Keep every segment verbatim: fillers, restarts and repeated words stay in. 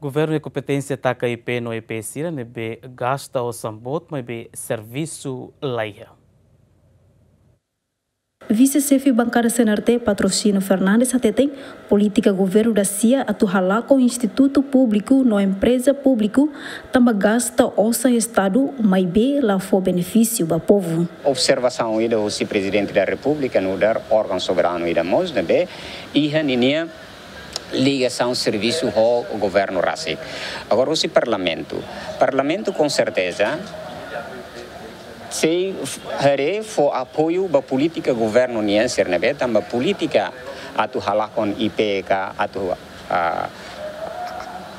Governu iha kompeténsia taka I P no E P sira ne'ebé gasta osan boot maibé servisu laiha. Vise-Xefe Bankada C N R T, Patrocínio Fernandes, hateten polítika governu da sia atu halakon institutu públiku no empreza públiku tanba gasta osan Estadu maibé la fó benefísiu ba povu. Observasaun ida husi Prezidente da Repúblika nu'udar órgaun soberanu ida mós ne'ebé iha ninia ligasaun servisu ho governu rasik. Agora husi Parlamentu. Parlamentu com certeza sei f-, haree fó apoiu ba polítika governu nian sira ne'ebé tanba polítika atu halakon I P ka atu, ah,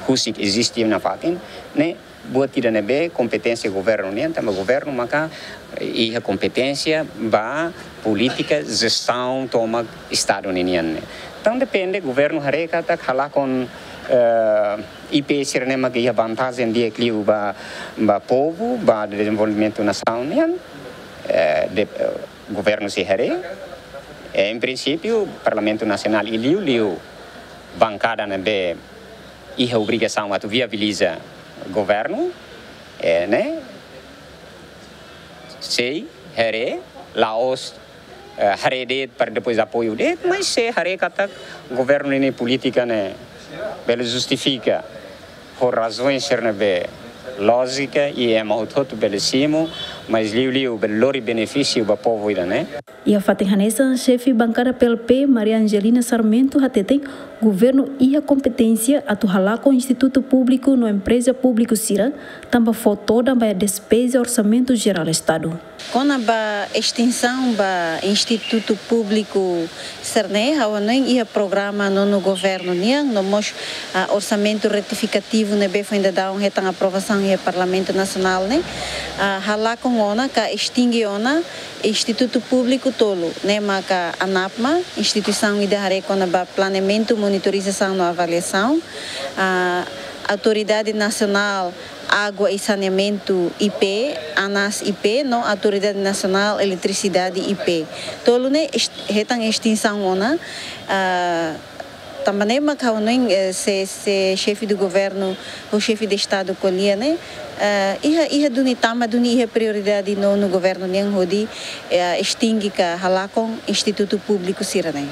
husik eziste nafatin ne'e buat ida ne'ebé kompeténsia governu nian tanba governu maka iha kompeténsia ba polítika jestaun tomak Estadu ninian ne'e. Entaun depende governu haree katak halakon, eh, I P sira ne'e maka iha vantajen di'ak liu ba, ba povu, ba dezenvolvimentu nasaun nian, eh, de, eh, governu sei haree. Eh, em princípio Parlamentu Nasionál i liuliu bankada ne'ebé iha obrigasaun atu viabiliza governu, eh, ne'e sei haree, la'ós, eh, haree de'it para depois apoiu de'it, mas sei haree katak governu ninia polítika ne'e bele justifika ho razaun sira ne'ebé lójika i ema hotu-hotu bele simu, mas liuliu bele lori benefísiu ba povu ida-ne'e. Iha fatin hanesan, Xefe Bankada P L P, Maria Angelina Sarmento, hateten governu iha kompeténsia atu halakon institutu públiku no empreza públiku sira tanba fó todan ba despeza Orsamentu Jerál Estadu. Kona-ba estinsaun ba institutu públiku sira-ne'e, ha'u hanoin iha programa nonu governu nian, no mós, ah, orsamentu retifikativu ne'ebé foin daudaun hetan aprovasaun iha Parlamentu Nasionál ne'e, ah, halakon ona ka estinge ona institutu públiku tolu, ne'e maka ANAPMA, instituisaun ida haree kona-ba planeamentu, monitorizasaun no avaliasaun, ah, Autoridade Nasionál Água e Saneamentu, I P, ANAS I P, no Autoridade Nasionál Eletrisidade, I P. Tolu ne'e est-, hetan estinsaun ona, ah, tanba ne'e mak ha'u hanoin, eh, se, se Xefe do Governu ou Xefe de Estadu ko'alia ne'e, eh, iha, iha duni tama duni iha prioridade nonu governu nian hodi, eh, estinge ka halakon institutu públiku sira-ne'e.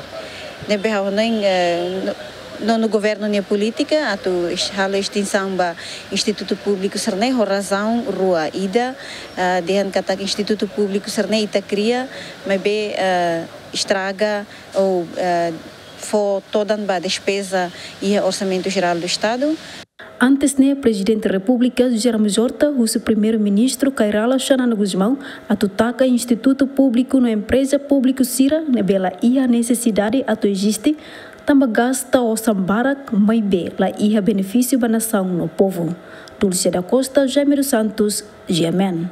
Ne'ebé ha'u hanoin, eh, no-, nonu governu nia polítika atu es-, halo estinsaun ba institutu públiku sira-ne'e ho razaun rua. Ida, eh, dehan katak institutu públiku sira-ne'e ita kria, maibé, eh, estraga ou, eh, fó todan ba despeza iha Orsamentu Jerál do Estadu. Antes ne'e, Prezidente Repúblika José Ramos Horta husu Primeiru-Ministru Kay Rala Xanana Gusmão atu taka institutu públiku no empreza públiku sira ne'ebé la iha nesesidade atu eziste, tanba gasta osan barak maibé la iha benefísiu ba nasaun no povu. Dulce da Costa, Jaime dos Santos, G M N.